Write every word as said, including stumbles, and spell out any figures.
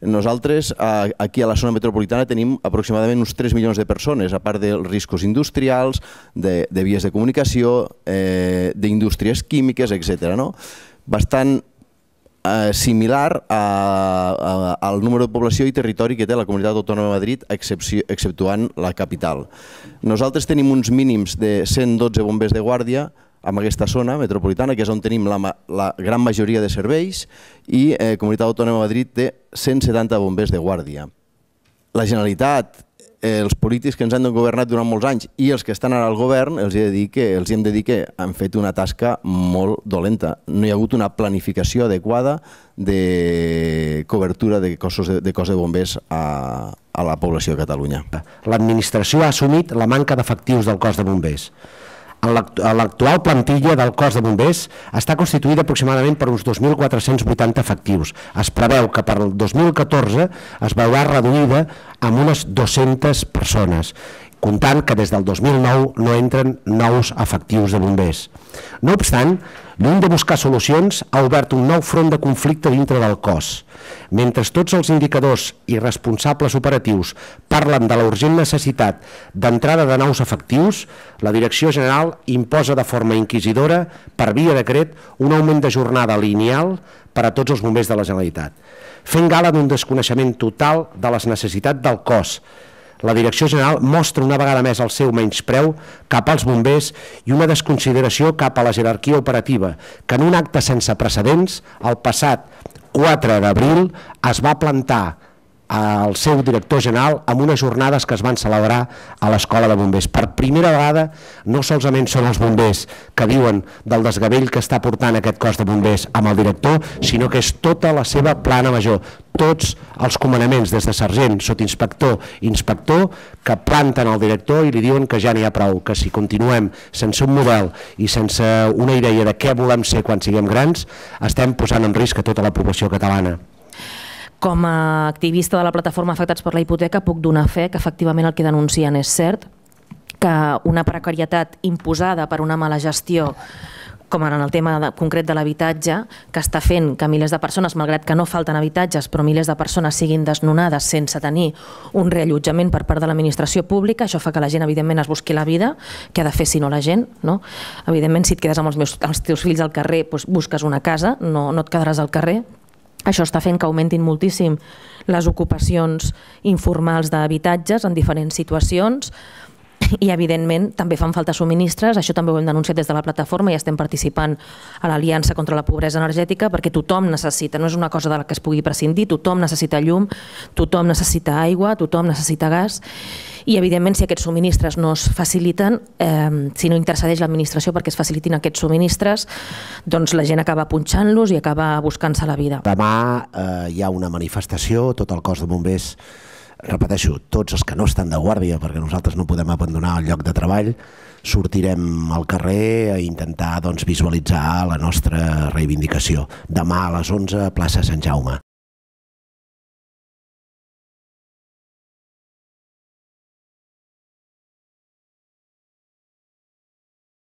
Nosaltres aquí a la zona metropolitana tenim aproximadament uns tres milions de persones, a part dels riscos industrials, de vies de comunicació, d'indústries químiques, etcètera. Bastant similar al número de població i territori que té la Comunitat Autònoma de Madrid, exceptuant la capital. Nosaltres tenim uns mínims de cent dotze bombers de guàrdia en aquesta zona metropolitana, que és on tenim la gran majoria de serveis, i la Comunitat Autònoma de Madrid té cent setanta bombers de guàrdia. La Generalitat, els polítics que ens han governat durant molts anys i els que estan ara al govern, els hem de dir que han fet una tasca molt dolenta. No hi ha hagut una planificació adequada de cobertura de cos de bombers a la població de Catalunya. L'administració ha assumit la manca d'efectius del cos de bombers. L'actual plantilla del cos de bombers està constituïda aproximadament per uns dos mil quatre-cents vuitanta efectius. Es preveu que per al dos mil catorze es veurà reduïda amb unes dues-centes persones, comptant que des del dos mil nou no entren nous efectius de bombers. No obstant, lluny de buscar solucions, ha obert un nou front de conflicte dintre del cos. Mentre tots els indicadors i responsables operatius parlen de la urgent necessitat d'entrada de nous efectius, la Direcció General imposa de forma inquisidora, per via decret, un augment de jornada lineal per a tots els bombers de la Generalitat, fent gala d'un desconeixement total de les necessitats del cos. La Direcció General mostra una vegada més el seu menyspreu cap als bombers i una desconsideració cap a la jerarquia operativa, que en un acte sense precedents, el passat quatre d'abril, es va plantar al seu director general amb unes jornades que es van celebrar a l'Escola de Bombers. Per primera vegada, no solament són els bombers que diuen del desgavell que està portant aquest cos de bombers amb el director, sinó que és tota la seva plana major, tots els comandaments, des de sergent, sotsinspector, inspector, que planten al director i li diuen que ja n'hi ha prou, que si continuem sense un model i sense una idea de què volem ser quan siguem grans, estem posant en risc a tota la població catalana. Com a activista de la plataforma Afectats per la Hipoteca puc donar fe que efectivament el que denuncien és cert, que una precarietat imposada per una mala gestió, com en el tema concret de l'habitatge, que està fent que milers de persones, malgrat que no falten habitatges, però milers de persones siguin desnonades sense tenir un reallotjament per part de l'administració pública, això fa que la gent evidentment es busqui la vida, què ha de fer si no la gent? Evidentment, si et quedes amb els teus fills al carrer, busques una casa, no et quedaràs al carrer. Això està fent que augmentin moltíssim les ocupacions informals d'habitatges en diferents situacions i, evidentment, també fan falta subministres. Això també ho hem denunciat des de la plataforma i estem participant a l'Aliança contra la Pobresa Energètica perquè tothom necessita, no és una cosa de la que es pugui prescindir, tothom necessita llum, tothom necessita aigua, tothom necessita gas i, evidentment, si aquests subministres no es faciliten, si no intercedeix l'administració perquè es facilitin aquests subministres, doncs la gent acaba punxant-los i acaba buscant-se la vida. Demà hi ha una manifestació, tot el cos de bombers, repeteixo, tots els que no estan de guàrdia, perquè nosaltres no podem abandonar el lloc de treball, sortirem al carrer a intentar visualitzar la nostra reivindicació. Demà a les onze, plaça Sant Jaume.